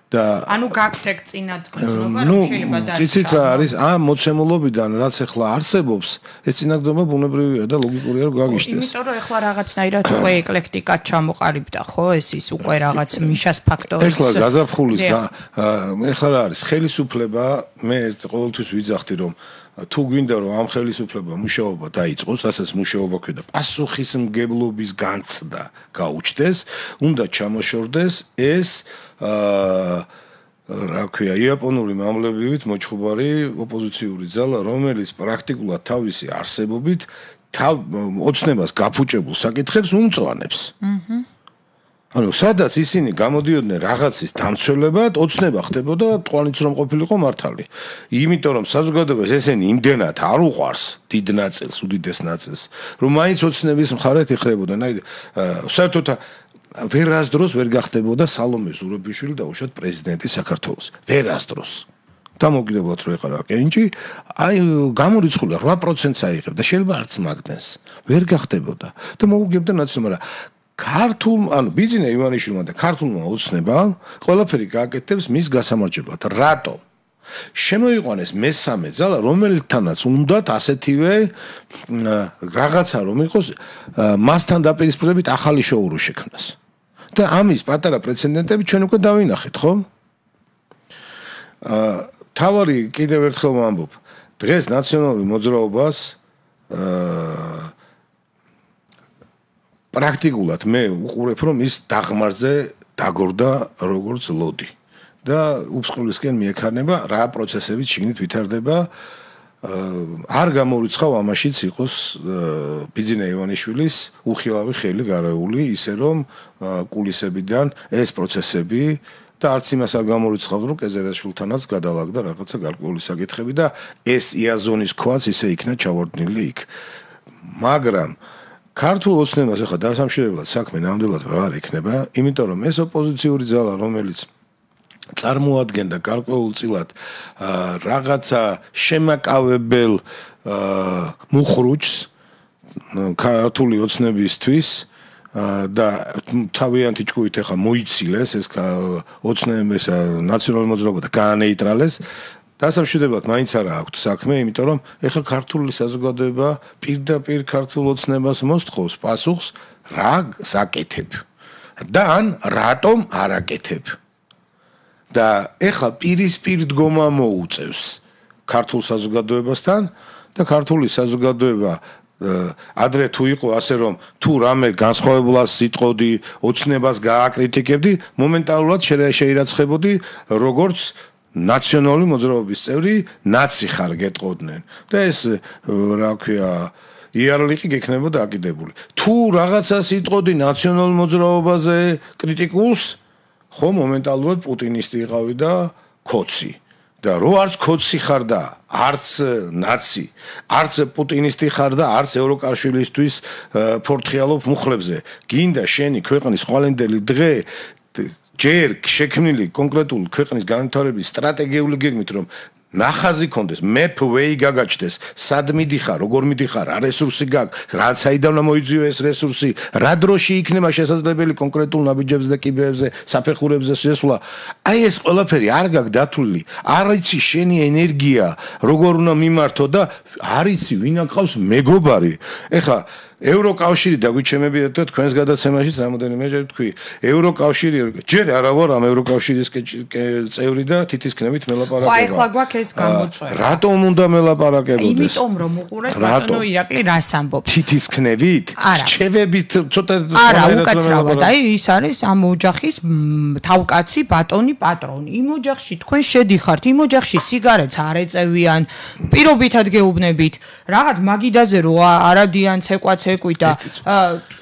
და ანუ გაგთეკ წინათ გრძნობა რომ შეიძლება დაიწყოს. იცით რა არის ამ მოცემულობიდან რაც ახლა არსებობს, ეს წინაგდება ბუნებრივია და ლოგიკურია რომ გაგიშტეს. იმიტომ რომ ახლა რაღაცნაირად უკვე ეკლექტიკად ჩამოყალიბდა, ხო, ეს ის უკვე რაღაც მიშას ფაქტორიც. ახლა გაზაფხულის ახლა რა არის ხელისუფლება, მე ყოველთვის ვიძახდი რომ თუ გვინდა რომ ამ ხელისუფლება მუშაობა დაიწყოს, რასაც მუშაობა ქვია და პასუხისმგებლობის განცდა გაუჩნდეს, უნდა ჩამოშორდეს ეს რა ქვია იაპონური მამლებივით მოჩხუბარი ოპოზიციური ძალა, რომელიც პრაქტიკულად თავისი არსებობით ოცნებას გაფუჭებულ საკითხებს უმწვანებს. ანუ სადაც ისინი გამოდიოდნენ რაღაცის დამცველებად, ოცნება ხდებოდა თვალნიც რომ ყოფილიყო მართალი. იმიტომ რომ საზოგადოებას ესენი იმდენად არ უყვარს დიდ ნაწილს, უდიდეს ნაწილს, რომ მაინც ოცნების მხარეთ იხრებოდნენ. აი საერთოდ ვერასდროს ვერ გახდებოდა სალომე ზურაბიშვილი დაუშვათ პრეზიდენტი საქართველოს. ვერასდროს. დამოუკიდებლად რო ეყარა კენჭი, აი გამორიცხული 8%-ს აიღებ და შეიძლება არც მაგდენს. ვერ გახდებოდა და მოუგებდა ნაცნობად. ანუ ბიძინა ივანიშვილმა და ქართულმა ოცნებამ ყველაფერი გააკეთებს მის გასამარჯებლად. რატომ? შემოიყვანეს მესამე ძალა, რომელთანაც უნდათ ასეთივე რაღაცა რომ იყოს მასთან დაპირისპირებით ახალი შოურო შექმნას. და ამის პატარა პრეცედენტები ჩვენ უკვე დავინახეთ, ხო? თავარი კიდევ ერთხელ ვამბობ, დღეს ნაციონალური მოძრაობას პრაქტიკულად მე უყურებ რომ ის დაღმარზე დაგორდა როგორც ლოდი და უფსკვლისკენ მიექარნება რა პროცესებით შიგნით ვითარდება არ გამორიცხავ ამაშიც იყოს ბიძინა ივანიშვილის უხილავი ხელი გარეული ისე რომ კულისებიდან ეს პროცესები და არც იმას არ გამორიცხავ რომ კეზერაშვილთანაც გადალაგდა რაღაცა გარკვეული საკითხები და ეს იაზონის ქვაც ისე იქნა ჩავარდნილი იქ მაგრამ ქართულ ოცნებას ახლა დასამშვიდებლად საქმე ნამდვილად არ იქნება, იმიტომ რომ ეს ოპოზიციური ძალა, რომელიც წარმოადგენდა გარკვეულწილად რაღაცა შემაკავებელ მუხრუჭს ქართული ოცნებისთვის და თავიანთი ჭკუით ახლა მოიცილეს ეს ოცნების ნაციონალური მოძრაობა და გაანეიტრალეს დასამშვიდებლად მაინც არა აქვს საქმე, იმიტომ რომ ეხლა ქართული საზოგადოება პირდაპირ ქართულ ოცნებას მოსთხოვს პასუხს რა საკეთებ და ან რატომ არ აკეთებ. და ეხლა პირისპირ დგომა მოუწევს ქართულ საზოგადოებასთან და ქართული საზოგადოება ადრე თუ იყო ასე რომ თუ რამე განსხვავებულას იტყოდი, ოცნებას გააკრიტიკებდი, მომენტალურად შეირაცხებოდი როგორც ნაციონალური მოძრაობის წევრი ნაცი ხარ გეტყოდნენ და ეს რა ქვია იარლიყი გექნებოდა აკიდებული თუ რაღაცას იტყოდი ნაციონალურ მოძრაობაზე კრიტიკულს ხო მომენტალურად პუტინისტი იყავი და ქოცი და რო არც ქოცი ხარ და არც ნაცი არც პუტინისტი ხარ და არც ევროკავშირისთვის ფორთხიალობ მუხლებზე გინდა შენი ქვეყნის ხვალენდელი დღე ჯერ შექმნილი კონკრეტული ქვეყნის განვითარების სტრატეგიული გეგმით რომ ნახაზი კონდეს map way გაგაჩნდეს სად მიდიხარ როგორ მიდიხარ რა რესურსი გაქვს რა საიდან მოიძიო ეს რესურსი რა დროში იქნება შესაძლებელი კონკრეტულ ნაბიჯებზე და კიბეებზე საფეხურებზე შესვლა აი ეს ყველაფერი არ გაქვს დათვლილი არ იცი შენი ენერგია როგორ უნდა მიმართო და არ იცი ვინ აკავს მეგობარი ეხლა ევროკავშირი დაგვიჩემებიათ და თქვენს გადაცემაშიც რამოდენიმეჯერ თქვი ევროკავშირი ჯერ არა ვარ ამ ევროკავშირის წევრი და თითისქნებით მელაპარაკება. ხო ახლა გვაქვს ეს გამოწვევა. რატომ უნდა მელაპარაკებოდეს? იმიტომ რომ უყურეთ ბატონო ირაკლი რას ამბობს? თითისქნებით? რჩევებით ცოტა არა უკაცრავად აი ის არის ამ ოჯახის თავკაცი ბატონი პატრონი. იმ ოჯახში თქვენ შედიხართ, იმ ოჯახში სიგარეტს არ ეწევიან, პირობითად გეუბნებით. რაღაც მაგიდაზე რო არადიან ცეკვაც ეკვიდა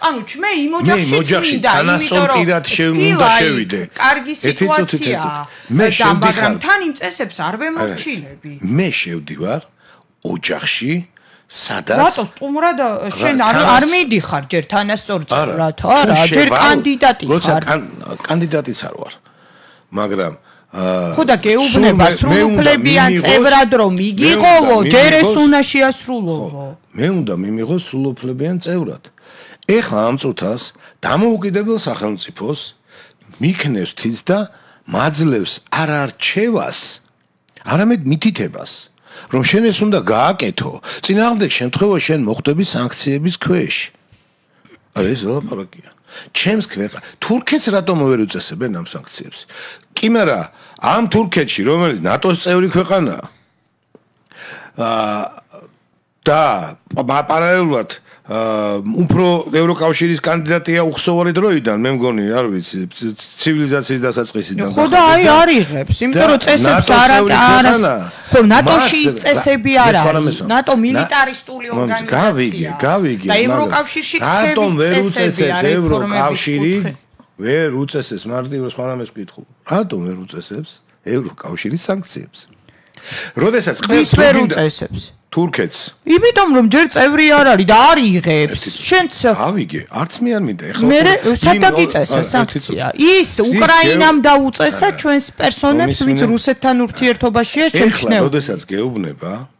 ანუ მე იმ ოჯახში წმინდა იმიტომ რომ უნდა შევიდე კარგი სიტუაციაა და მაგრამ თან იმ წესებს არ ვემორჩილები მე შევდივარ ოჯახში სადაც რატო სტუმრად შენ არ მიდიხარ ჯერ თანასწორწმუნდად არა ჯერ კანდიდატი ხარ როცა კანდიდატიც არ ვარ მაგრამ ხო და გეუბნება სრულუფლებიან წევრად რომ იგიყოლო, ჯერ ეს უნდა შეასრულო. მე უნდა მიმიღო სრულუფლებიან წევრად. ეხლა ამ წუთას დამოუკიდებელ სახელმწიფოს მიქნევს თის და მაძლევს არ არჩევას, არამედ მითითებას, რომ შენ ეს უნდა გააკეთო, წინააღმდეგ შემთხვევაში შენ მოხვდები სანქციების ქვეშ. ეს ლაპარაკია. ჩემს ქვეყანას თურქეთს რატომ ვერ უწესებენ ამ სანქციებს? კი, მაგრამ ამ თურქეთში, რომელიც ნატოს წევრი ქვეყანაა, და პარალელურად უფრო ევროკავშირის კანდიდატია უხსოვარი დროიდან, მე მგონი, არ ვიცი, ცივილიზაციის დასაწყისიდან. ხო და აი არიღებს, იმიტომ რომ წესებს არა. ხო, ნატოში წესები არ არის. ნატო მილიტარისტული ორგანიზაცია. გავიგე. და ევროკავშირში წესების წესები არის ევროკავშირი ვერ უწესებს მარტივ სხვა რამეს ვკითხულ. რატომ ვერ უწესებს ევროკავშირის სანქციებს? როდესაც ყველს ვერ უწესებს თურქეთს. იმიტომ რომ ჯერ წევრი არ არის და არ იღებს. შენც ავიგე, არც მე არ მინდა ეხლა. მე სადაც იწესა სანქცია. ის უკრაინამ დაუწესა ჩვენს პერსონებს, ვინც რუსეთთან ურთიერთობაშია შეჩნეულ. ეხლა როდესაც გეუბნება,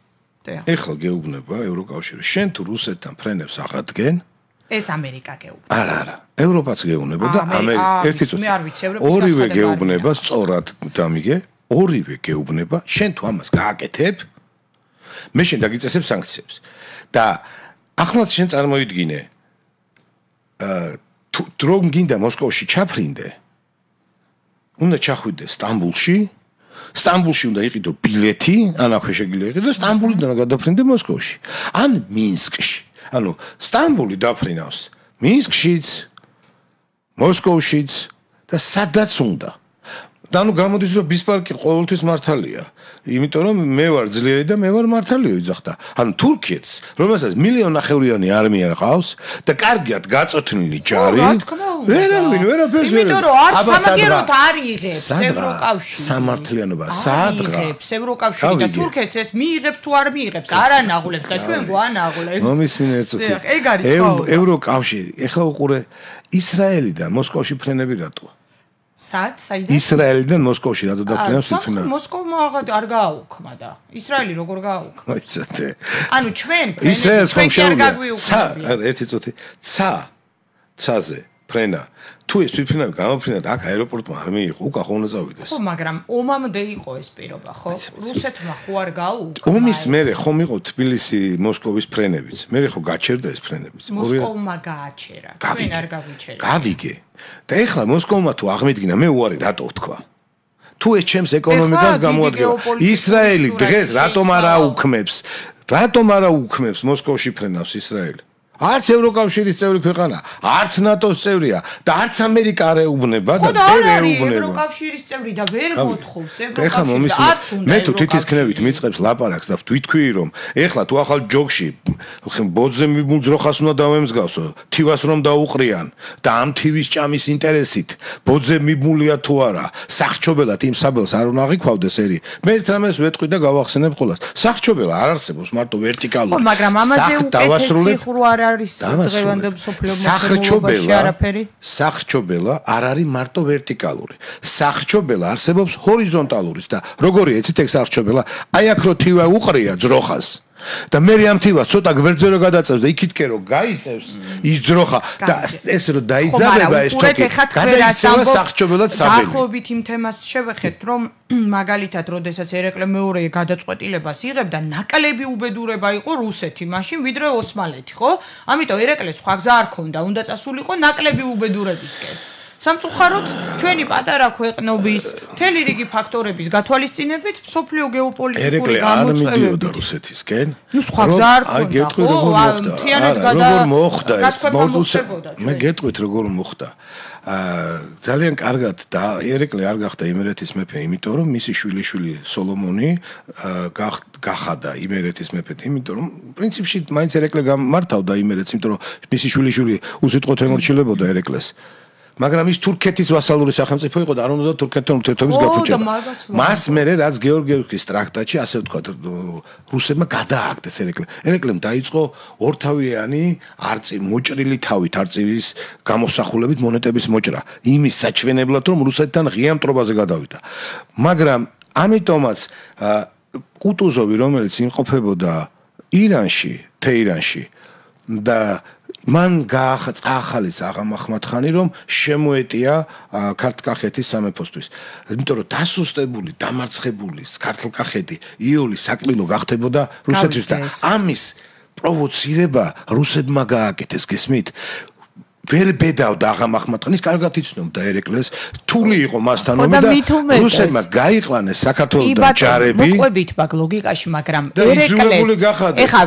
ევროკავშირი, შენ თუ რუსეთთან ფრენებს აღადგენ, ეს ამერიკა გეუბნება. არა, ევროპაც გეუბნება და ერთი წუთი. მე არ ვიცი, ევროპის ორივე გეუბნება სწორად, დამიგე, ორივე გეუბნება, შენ თუ ამას გააკეთებ, მე შენ დაგიწესებ სანქციებს. და ახლაც შენ წარმოიდგინე, თუ რომ გინდა მოსკოვში ჩაფრინდე, უნდა ჩახვიდე სტამბულში, სტამბულში უნდა იყიდო ბილეთი, ან აქვე შეგიძლია იყიდო, სტამბულიდან გადაფრინდე მოსკოვში. ან მინსკში. ანუ სტამბული დაფრინავს მინსკშიც, მოსკოვშიც და სადაც უნდა. და ანუ გამოდის რომ ბისმარკი ყოველთვის მართალია. იმიტომ რომ მე ვარ ძლიერი და მე ვარ მართალიო იძახდა. ანუ თურქეთს, რომელსაც 1.5 მილიონი არმია ყავს და კარგად გაწოთნილი ჯარი, ვერავინ ვერაფერს ვერ. იმიტომ რომ არც სამაგიეროდ არ იღებს ევროკავშირი. სამართლიანობა სადღა იღებს ევროკავშირი და თურქეთს ეს მიიღებს თუ არ მიიღებს, არ ანაღულებს და ჩვენ გვანაღულებს. მომისმინე ერთ წუთი. ეგ არის ხო. ევროკავშირი, ეხლა უყურე ისრაელიდან მოსკოვში ფრენები რატოა? საიდან? ისრაელიდან მოსკოვში რატო დაფრინავს თვითონ? მოსკოვმა არ გააუქმა და ისრაელი როგორ გააუქმა? მოიცადე. ანუ ჩვენ ისრაელს ხომ შეუძლია. ერთი წუთი. ცაზე ფრენა. თუ ეს თვითონ გამოფრინდა აქ აეროპორტმა არ მიიღო, უკან ხო უნდა წავიდეს. ხო, მაგრამ ომამდე იყო ეს პირობა, ხო? რუსეთმა ხო არ გააუქმა. ომის მერე ხომ იყო თბილისი მოსკოვის ფრენებიც. მერე ხო გაჩერდა ეს ფრენებიც. მოსკოვმა გააჩერა. ჩვენ არ გავიჩერეთ. გავიგე. და ეხლა მოსკოვმა თუ აღმედგინა, მე უარი რატო ვთქვა? თუ ეს ჩემს ეკონომიკას გამოადგენს, ისრაელი დღეს რატომ არ აუქმებს? რატომ არ აუქმებს მოსკოვში ფრენავს ისრაელი? არც ევროკავშირის წევრი ქვეყანა, არც ნატოს წევრია და არც ამერიკა არ ეუბნება და ვერ ეუბნება. ევროკავშირის წევრი და ვერ მოთხოვს ევროკავშირი. არც უნდა. მე თუ თითქმის მიწყებს ლაპარაკს და ვთქვი რომ ეხლა თუ ახალ ჯოგში ბოძზე მიბუძროხას უნდა დავემსგავსო, თივას რომ დაუყრიან და ამ თივის ჭამის ინტერესით ბოძზე მიბმულია თუ არა, სახჩობელად იმ საბელს არ უნდა აღიქვავდეს ერი. მე ერთ რამეს ვეტყვი და გავახსენებ ყველას. სახჩობელა არ არსებობს მარტო ვერტიკალური. ხო, მაგრამ ამაზე უკეთესი ხრო არის დღევანდელ სოფლიო მოცემულობაში არაფერი. სახჩობელა არ არის მარტო ვერტიკალური. სახჩობელა არსებობს ჰორიზონტალურიც და როგორია იცით ეგ სახჩობელა? აი აქ რო თივა უყრია ძროხას და მე ამ თივას ცოტა გვერდზე რო გადაწევს და იქითკენ რო გაიწევს ის ძროხა და ეს რო დაიძაბება ეს თოკი გადაიქცევა სახჩობელად საბელი. დაახლოებით იმ თემას შევეხეთ რომ მაგალითად როდესაც ერეკლე მეორე გადაწყვეტილებას იღებდა ნაკლები უბედურება იყო რუსეთი მაშინ ვიდრე ოსმალეთი ხო? ამიტომ ერეკლეს სხვა გზა არ ქონდა, უნდა წასულიყო ნაკლები უბედურებისკენ. სამწუხაროდ ჩვენი პატარა ქვეყნობის მთელი რიგი ფაქტორების გათვალისწინებით სოფლიო გეოპოლიტიკური გამოწვევები რუსეთისკენ. ნუ სხვა გზა არ ქონდა. აი გეტყვით როგორ მოხდა ეს? მე გეტყვით როგორ მოხდა. ძალიან კარგად და ერეკლე არ გახდა იმერეთის მეფე, იმიტომ რომ მისი შვილიშვილი სოლომონი გახადა იმერეთის მეფედ, იმიტომ რომ პრინციპში მაინც ერეკლე გამართავდა იმერეთს, იმიტომ რომ მისი შვილიშვილი უსიტყვოდ ემორჩილებოდა ერეკლეს. მაგრამ ის თურქეთის ვასალური სახელმწიფო იყო და არ უნდა თურქეთთან ურთიერთობის გაფუჭება. მას მერე რაც გეორგიევსკის ტრაქტატში ასე ვთქვა რუსებმა გადააგდეს ერეკლემ დაიწყო ორთავიანი მოჭრილი თავით არწივის გამოსახულებით მონეტების მოჭრა იმის საჩვენებლად რომ რუსეთთან ღია მტრობაზე გადავიდა. მაგრამ ამიტომაც კუტუზოვი რომელიც იმყოფებოდა ირანში, თეირანში და მან წაახალეს აღამ ახმად-ხანი რომ შემოეტია ქართლ-კახეთის სამეფოსთვის. იმიტომ რომ დასუსტებული, დამარცხებული ქართლ-კახეთი იოლი საკმილო გახდებოდა რუსეთის და ამის პროვოცირება რუსებმა გააკეთეს, გესმით? ვერ ბედავდა აღამ ახმად-ხანის, კარგად იცნობდა ერეკლეს, თული იყო მასთანავე და რუსებმა გაიყვანეს საქართველოსთან ჯარები. მოყვებით მაგ ლოგიკაში, მაგრამ ერეკლეს ეხა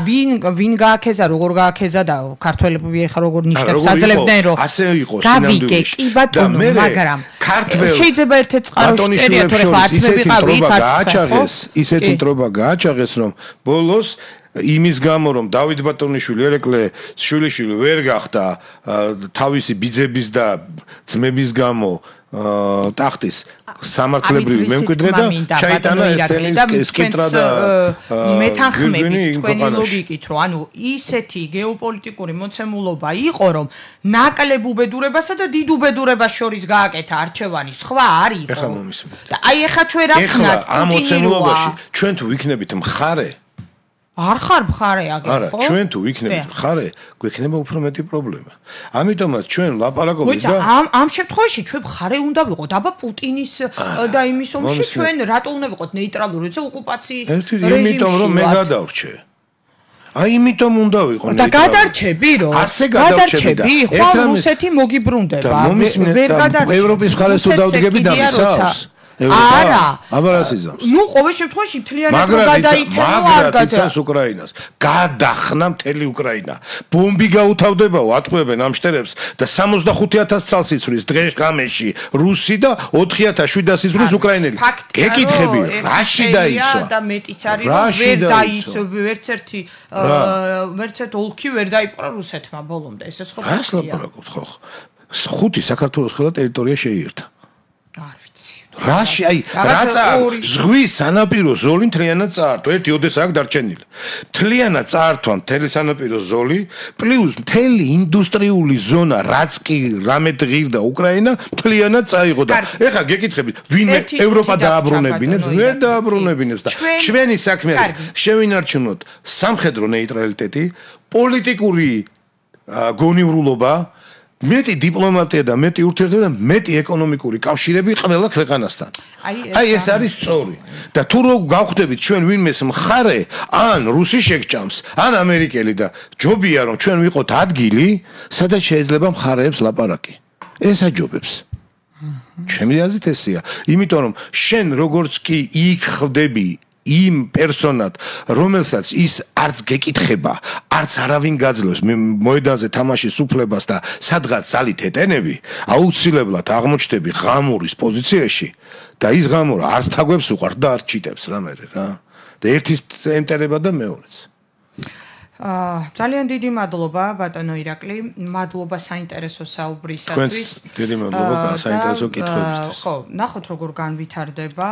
ვინ გააკეთა, როგორ გააკეთა და ქართველები ეხა როგორ ნიშნებს აძლევდნენ რომ ასე იყო სინამდვილეში. კი ბატონო, მაგრამ შეიძლება ერთ-ერთ წყაროში წერია თუ ეხა არც მე ვიყავით, ისეთი მტრობა გააჩაღეს რომ ბოლოს იმის გამო რომ დავით ბატონიშვილი ერეკლე შვილიშვილი ვერ გახდა თავისი ბიძების და ძმების გამო ტახტის სამართლებრივი მემკვიდრე და ჩაიტანა ესტენის კიტრა და მეთანხმებით თქვენი ლოგიკით რომ ანუ ისეთი გეოპოლიტიკური მოცემულობა იყო რომ ნაკლებ უბედურებასა და დიდ უბედურებას შორის გააკეთა არჩევანი სხვა არ იყო. ეხლა მომისმენთ. და აი ეხლა ჩვენ რა ვქნათ ამ მოცემულობაში ჩვენ თუ ვიქნებით მხარე არ ხარ მხარე აგერ ხო? არა, ჩვენ თუ ვიქნებით მხარე, გვექნება უფრო მეტი პრობლემა. ამიტომაც ჩვენ ლაპარაკობთ და ამ შემთხვევაში ჩვენ მხარე უნდა ვიყოთ. აბა პუტინის და იმის ომში ჩვენ რატო უნდა ვიყოთ ნეიტრალური, როცა ოკუპაციის რეჟიმში. იმიტომ რომ მე გადავრჩე. აი იმიტომ უნდა ვიყო და გადარჩები რომ ასე გადარჩები ხო რუსეთი მოგიბრუნდება. ვერ გადარჩები. ევროპის მხარეს თუ დავდგები და ვიცავს. არა, აბარასიზამს. ნუ ყოველ შემთხვევაში მთლიანად გადაითემო არ გადაიცანს უკრაინას. გადახნა მთელი უკრაინა. ბომბი გაუთავდებაო, ატყვევენ ამ შტერებს და 65,000 წელს იცვლის დღეს ღამეში რუსი და 4,700 იცვლის უკრაინელი. გეკითხები, რაში დაიცვა? და მეტიც არის რომ ვერ დაიცვა, ვერც ერთ ოლქი ვერ დაიპყრა რუსეთმა ბოლომდე. ესეც ხო რა ლაპარაკობთ ხო? 5 საქართველოს ყველა ტერიტორია შეიერთა. არ ვიცი. რაში აი რაცა ზღვის სანაპირო ზოლი მთლიანად წაართვა ერთი ოდესა აქ დარჩენილი მთლიანად წაართვა მთელი სანაპირო ზოლი პლუს მთელი ინდუსტრიული ზონა რაც კი რამე ღირდა უკრაინა მთლიანად წაიღო და ეხლა გეკითხებით ვინმე ევროპა დააბრუნებინებს ვერ დააბრუნებინებს და ჩვენი საქმე არის შევინარჩუნოთ სამხედრო ნეიტრალიტეტი პოლიტიკური გონივრულობა მეტი დიპლომატია და მეტი ურთიერთობა და მეტი ეკონომიკური კავშირები ყველა ქვეყანასთან. აი ეს არის სწორი. და თუ რო გავხვდებით ჩვენ ვინმეს მხარე, ან რუსი შეგჭამს, ან ამერიკელი და ჯობია რომ ჩვენ ვიყოთ ადგილი, სადაც შეიძლება მხარეებს ლაპარაკი. ეს აჯობებს. ჩემი აზრით ესეა. იმიტომ რომ შენ როგორც კი იქ ხვდები იმ პერსონად, რომელსაც ის არც გეკითხება, არც არავინ გაძლევს მოედანზე თამაშის უფლებას და სადღაც ძალით ეტენები, აუცილებლად აღმოჩნდები ღამურის პოზიციაში და ის ღამურა არც თაგვებს უყარს და არც ჩიტებს რამე რა. და ერთის ენტერება და მეორეც. ძალიან დიდი მადლობა ბატონო ირაკლი, მადლობა საინტერესო საუბრისათვის. დიდი მადლობა საინტერესო კითხვებისთვის. ხო, ნახოთ როგორ განვითარდება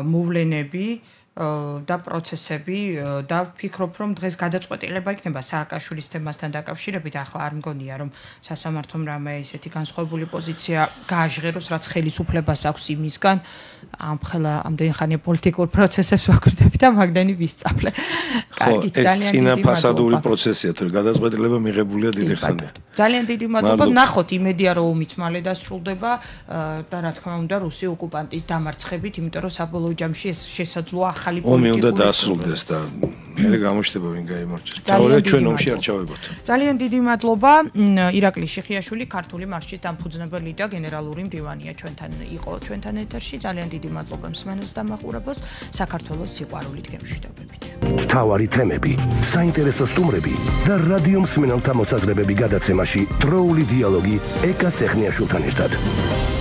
მოვლენები და პროცესები და ვფიქრობ რომ დღეს გადაწყვეტილება იქნება სააკაშვილის თემასთან დაკავშირებით ახლა არ მგონია რომ სასამართლომ რამე ისეთი განსხვავებული პოზიცია გააჟღეროს რაც ხელისუფლებას აქვს იმისგან ამხელა ამდენი ხანია პოლიტიკურ პროცესებს ვაკვირდები და მაგდენი ვისწავლე. კარგი, ძალიან დიდი მადლობა. წინაფასადური პროცესია თუ გადაწყვეტილება მიღებულია დიდი ხანია. ძალიან დიდი მადლობა. ნახოთ იმედია რომ ომიც მალე დასრულდება და რა თქმა უნდა რუსი ოკუპანტის დამარცხებით, იმიტომ რომ საბოლოო ჯამში ეს შესაძლოა ახალი ომი უნდა დასრულდეს და მე გამოჩნდება ვინ გაიმარჯვებს. თორე ჩვენ ომში არ ჩავებოთ. ძალიან დიდი მადლობა. ირაკლი შიხიაშვილი, ქართული მარშის დამფუძნებელი და გენერალური მდივანია ჩვენთან იყო ჩვენთან ეთერში. ძალიან დიდი მადლობა მსმენელს და მაყურებელს. საქართველოს სიყვარულით გემშვიდობებით. მთავარი თემები, საინტერესო სტუმრები და რადიო მსმენელთა მოსაზრებები გადაცემაში დროული დიალოგი ეკა სეხნიაშვილთან ერთად.